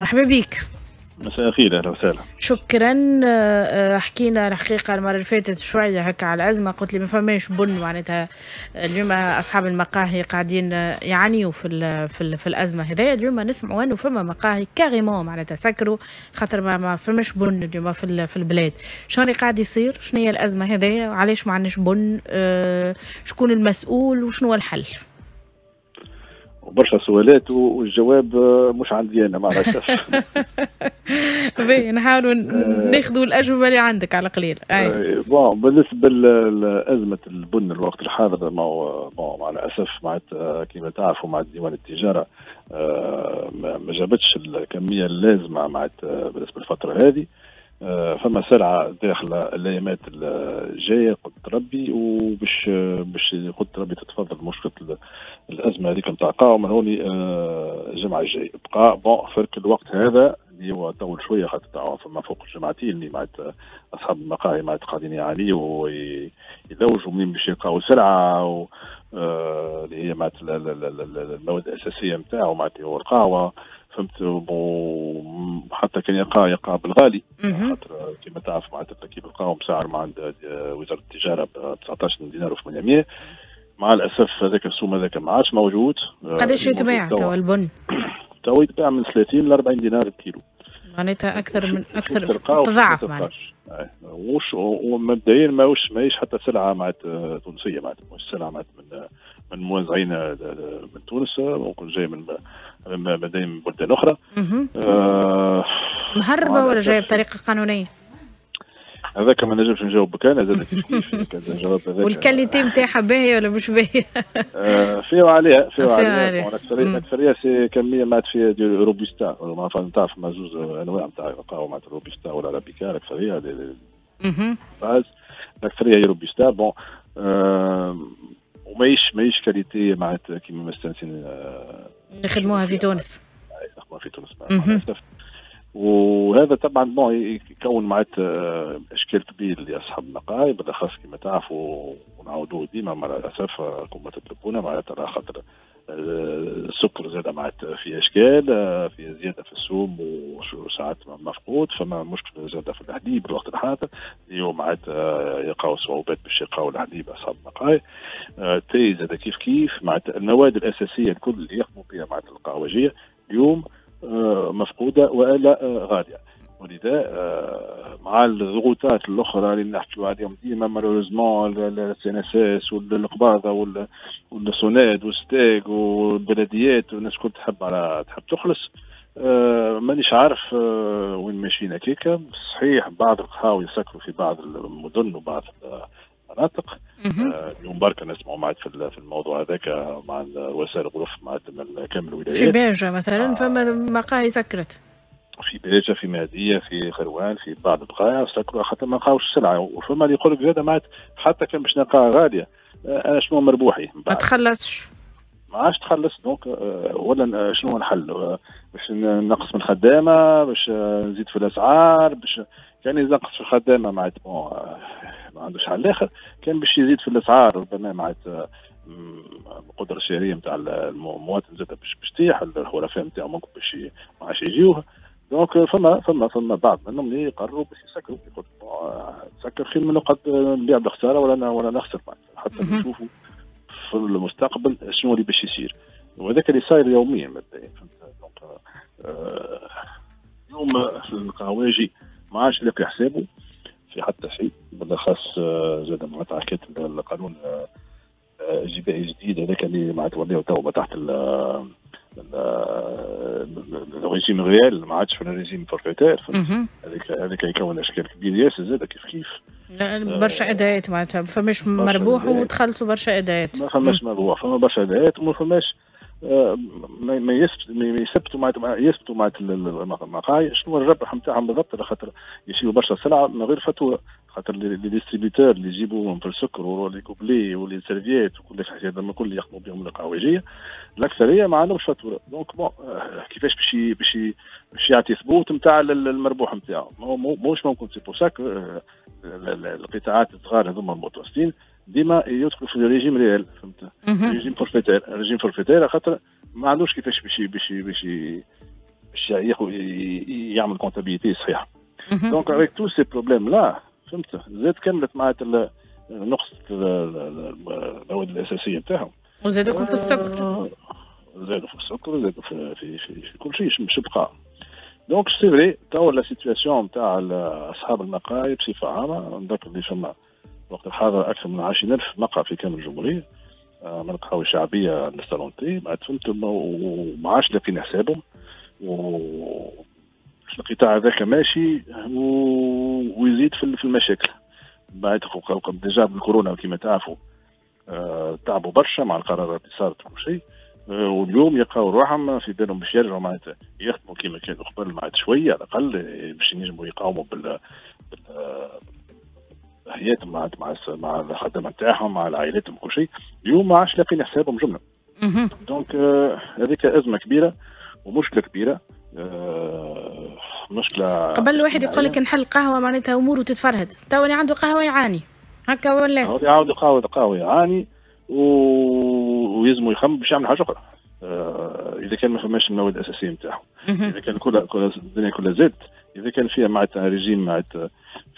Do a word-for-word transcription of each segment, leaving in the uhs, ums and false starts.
مرحبا بك. مساء الخير، اهلا وسهلا. شكرا. آه، حكينا الحقيقة المرة اللي فاتت شوية هكا على الازمه، قلت لي ما فماش بن، معناتها اليوم اصحاب المقاهي قاعدين يعانيوا في ال في, ال في الازمة هذايا. اليوم نسمعوا انه فما مقاهي carrément معناتها سكروا خاطر ما, ما فماش بن اليوم في في البلاد. شنو اللي قاعد يصير؟ شنو هي الازمة هذايا؟ وعلاش ما عندناش بن؟ آه، شكون المسؤول وشنو هو الحل؟ برشا سؤالات والجواب مش عندي انا مع الاسف. باهي، نحاولوا ناخذوا الاجوبة اللي عندك على قليل. أي. bon، بالنسبة لازمه البن الوقت الحاضر، ما هو bon مع الاسف معناتها كما تعرفوا مع ديوان التجارة آه، ما جابتش الكمية اللازمة معناتها بالنسبة للفترة هذه. آه، فما سلعه داخله الايامات الجاية قدرة ربي، وباش باش قدرة ربي تتفضل مشكلة الازمة هذيك نتاع قهوة من هوني آه، الجمعة الجاية. بقى bon فرق الوقت هذا اللي هو طول شويه، خاطر فما فوق الجمعتين اللي معناتها اصحاب المقاهي معناتها قاعدين يعانيوا ويلوجوا منين باش يلقاو سلعه و آه، اللي هي معناتها المواد الاساسية نتاعو، معناتها هو القهوه، فهمت؟ حتى كان يلقى يلقى بالغالي، خاطر كما تعرف معناتها كيف القهوة مسعر مع عند وزارة التجارة ب تسعطاش دينار وثمانمية. مع الاسف هذاك السوم هذاك ما عادش موجود. قداش يتباع توا البن؟ توا يتباع من ثلاثين ل أربعين دينار الكيلو. معناتها اكثر من اكثر، تضاعف معناتها. وش ومبدئيا ماهوش ماهيش حتى سلعه معناتها تونسيه، معناتها مش سلعه معناتها من من موزعين من تونس، ممكن جاي من من بلدان اخرى. آه مهربه ولا جاية بطريقة قانونية؟ هذاك ما نجمش نجاوبك انا زاد كيف كيف الجواب هذاك. وال qualité نتاعها باهيه ولا مش باهيه؟ آه فيه وعليها، فيه وعليها. الاكثريه الاكثريه c'est كمية معناتها فيها du روبوستا. ما تعرف ما زوز انواع نتاع قهوة معناتها، روبوستا ولا ارابيكا. الاكثرية base الاكثرية هي روبوستا. bon آه وماهيش ماهيش qualité معناتها كيما مستانسين آه نخدموها في تونس. نخدموها في تونس مع الاسف. وهذا طبعا bon يكون معناتها اشكال كبير لاصحاب المقاهي، بالاخص كما تعرفوا ونعاودوه ديما مع الاسف كما تطلبونا، معناتها خاطر السكر زاد معناتها في اشكال، في زيادة في السوم وساعات مفقود. فما مشكلة زاده في الحليب الوقت الحاضر، اليوم معناتها يلقاو صعوبات باش يلقاو الحليب اصحاب المقاهي. تاي زاد كيف كيف، معناتها المواد الاساسية الكل اللي يخدموا بها معناتها القهوجيه اليوم مفقودة والا غاليه. ولذا مع الضغوطات الاخرى اللي نحكيو عليهم ديما malheureusement، ال CNSS والقباضه والسوناد والستاغ والبلديات والناس الكل تحب على تحب تخلص. مانيش عارف وين ماشيين هكاكا. صحيح بعض القهاوي يسكروا في بعض المدن وبعض المناطق. اليوم بركة نسمعوا معك في الموضوع هذاك مع رؤساء الغرف مع من كامل الولايات. في باجة مثلا فما مقاهي سكرت. في باجة، في مهدية، في قيروان، في بعض البقايع سكروا خاطر ما لقاوش السلعة. وفما اللي يقول لك زاد معناتها حتى كان باش نلقاها غالية، أنا شنو مربوحي؟ ما تخلصش. ما عادش تخلص. donc ولا شنو الحل؟ باش نقص من الخدامة، باش نزيد في الأسعار، باش كان ينقص في الخدامة معناتها bon ما عندوش حل آخر. كان باش يزيد في الأسعار ربما معناتها القدرة الشرائية نتاع المواطن زاد باش باش تطيح، الحرفاء نتاعو ممكن باش ما عادش يجيوه. donc فما فما فما بعض منهم اللي يقرروا باش يسكروا، يقول تسكر خير من نقعد نبيع بالخساره ولا ولا نخسر، حتى نشوفوا في المستقبل شنو اللي باش يصير. وهذاك اللي صاير يوميا مبدئيا، فهمت؟ donc اليوم القهواجي ما عادش لاقي حسابه في حتى شيء، بالاخص زاد معناتها حكاية القانون الجبائي الجديد هذاك اللي معناتها ولاو تو تحت ال régime réel، ما عادش في ال régime forfaitaire. هذاك هذاك يكون اشكال كبير ياسر زاد كيف كيف. برشا اداءات، معناتها ما فماش مربوح وتخلصوا برشا اداءات. ما فماش مربوح، فما برشا اداءات وما فماش ما يثبتوا معناتها يثبتوا معناتها المقاهي شنو الربح نتاعهم بالضبط، على خاطر يشريوا برشا سلعه من غير فاتورة، خاطر les distributeurs اللي يجيبوهم في السكر و les gobelets و les serviettes وكل الحاجات هذوما الكل اللي يخدموا بهم القهوجيه الاكثرية ما عندهمش فاتورة. donc bon كيفاش باش باش باش يعطي ثبوت نتاع المربوح نتاعو؟ ماهوش ممكن. c'est pour ça القطاعات الصغار هذوما المتوسطين ديما يدخلوا في ال régime réel، فهمت؟ régime forfaitaire، régime forfaitaire، خاطر ما عندوش كيفاش باش باش باش باش ياخذ يعمل comptabilité صحيحه. donc avec tous ces problèmes-là، فهمت، زاد كملت معناتها نقص المواد الاساسية نتاعهم. وزادوا في السكر. زادوا في السكر، زادوا في في في, في كل شيء مش بقى. donc c'est vrai، توا la situation نتاع اصحاب المقاهي بصفة عامه، نذكر اللي فما وقت الحاضر اكثر من عشرين ألف مقهى في كامل الجمهوريه، آه، من القهاوي الشعبية لل salons de thé، فهمت، وما عادش لاقيين حسابهم، و القطاع هذاك ماشي ويزيد في المشاكل. بعد déjà بالكورونا كما تعرفوا آه، تعبوا برشا مع القرارات اللي صارت وكل شيء، آه، واليوم يلقاو روحهم في بالهم باش يرجعوا معناتها يخدموا كما كانوا قبل معناتها شوية على الاقل باش ينجموا يقاوموا بال حياتهم مع مع مع الخدمة نتاعهم، مع عائلاتهم وكل شيء. اليوم ما عادش لاقيين حسابهم جمله. donc آه، هذيك ازمة كبيرة ومشكلة كبيره، آه، مشكله. قبل الواحد يقول لك نحل قهوة معناتها اموره تتفرهد، تو اللي عنده قهوة يعاني هكا ولا؟ اللي عنده قهوة قهوة يعاني و... ويلزموا يخمم باش يعمل حاجة اخرى آه اذا كان ما فماش المواد الاساسية نتاعهم، اذا كان كل كل الدنيا كلها زادت، اذا كان فيها معناتها ريجيم معناتها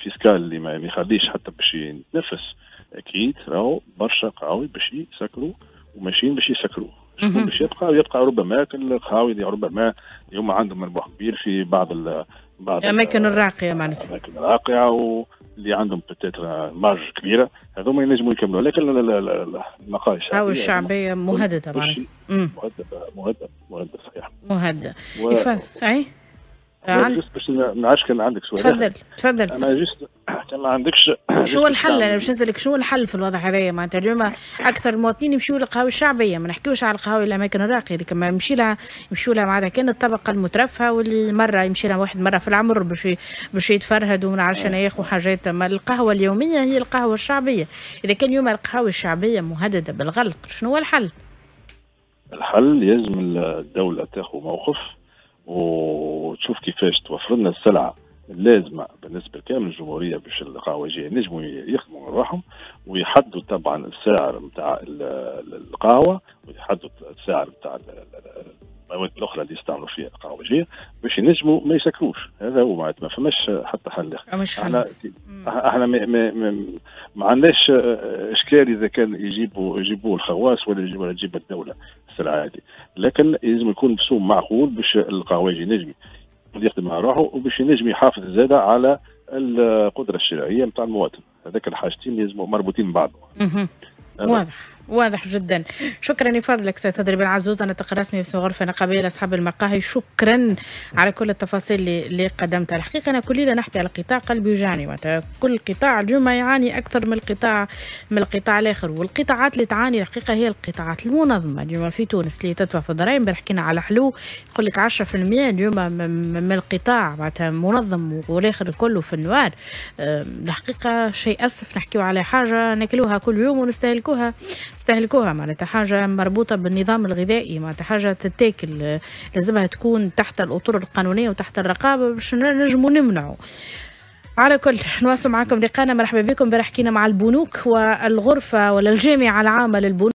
fiscal اللي ما يخليش حتى باش يتنفس، اكيد راهو برشا قهاوي باش يسكروا وماشيين باش يسكروا. شكون باش يبقى؟ يبقى ربما القهاوي اللي ربما اليوم عندهم مربح كبير في بعض ال بعض الاماكن الراقية معناتها. الاماكن الراقية واللي عندهم peut-être marge كبيره، هذوما ينجموا يكملوا، لكن المقاهي الشعبية الشعبية مهددة معناتها. مهدده، مهدده، مهدده، صحيح. مهدده و... اي. عند... juste باش ما نعرفش كان عندك سؤال. تفضل تفضل. انا juste كان ما عندكش. شو الحل؟ انا باش نسالك شو الحل في الوضع هذايا. معناتها اليوم اكثر المواطنين يمشيوا للقهاوي الشعبيه، ما نحكيوش على القهاوي الاماكن الراقية هذيك ما يمشي لها يمشوا لها معناتها كان الطبقة المترفهه، واللي مرة يمشي لها واحد مرة في العمر باش باش يتفرهد وما نعرفش انا ياخذ حاجات. ما القهوة اليومية هي القهوة الشعبيه. اذا كان اليوم القهاوي الشعبية مهددة بالغلق، شنو هو الحل؟ الحل يلزم الدولة تاخذ موقف وتشوف كيفاش توفر لنا السلعة اللازمة بالنسبة لكامل الجمهورية باش القهوجيه ينجموا يخدموا روحهم، ويحدوا طبعا السعر نتاع القهوة ويحدوا السعر نتاع المواد الاخرى اللي يستعملوا فيها القهوجيه باش ينجموا ما يسكروش. هذا هو معناتها، ما فماش حتى حل اخر. احنا احنا ما, ما, ما, ما عندناش اشكال اذا كان يجيبوا يجيبوا الخواص ولا ولا تجيب الدولة السلعة هذه، لكن لازم يكون بسوم معقول باش القهوجي ينجم يخدم مع روحه وباش ينجم يحافظ زاده على القدرة الشرائية نتاع المواطن. هذاك الحاجتين لازم مربوطين ببعضهم. واضح، واضح جدا. شكرا لفضلك سيد صدري بن عزوز، الناطق الرسمي باسم غرفة نقابيه لاصحاب المقاهي. شكرا على كل التفاصيل اللي, اللي قدمتها. الحقيقة انا كل ليلة نحكي على القطاع قلبي يوجعني، معناتها كل قطاع اليوم يعاني اكثر من القطاع من القطاع الاخر، والقطاعات اللي تعاني الحقيقة هي القطاعات المنظمة اليوم في تونس اللي تدفع في الضرائب. امبارح حكينا على حلو، يقول لك عشرة في المية اليوم من القطاع معناتها منظم والاخر كله في ال noir. الحقيقة شيء اسف، نحكيو على حاجة ناكلوها كل يوم ونستهلكوها نستهلكوها معناتها حاجة مربوطة بالنظام الغذائي، معناتها حاجة تتاكل لازمها تكون تحت الأطر القانونية وتحت الرقابة باش نجموا نمنعوا. على كل نواصل معكم لقانا، مرحبا بكم. امبارح حكينا مع البنوك والغرفة ولا الجامعة العامة للبنوك.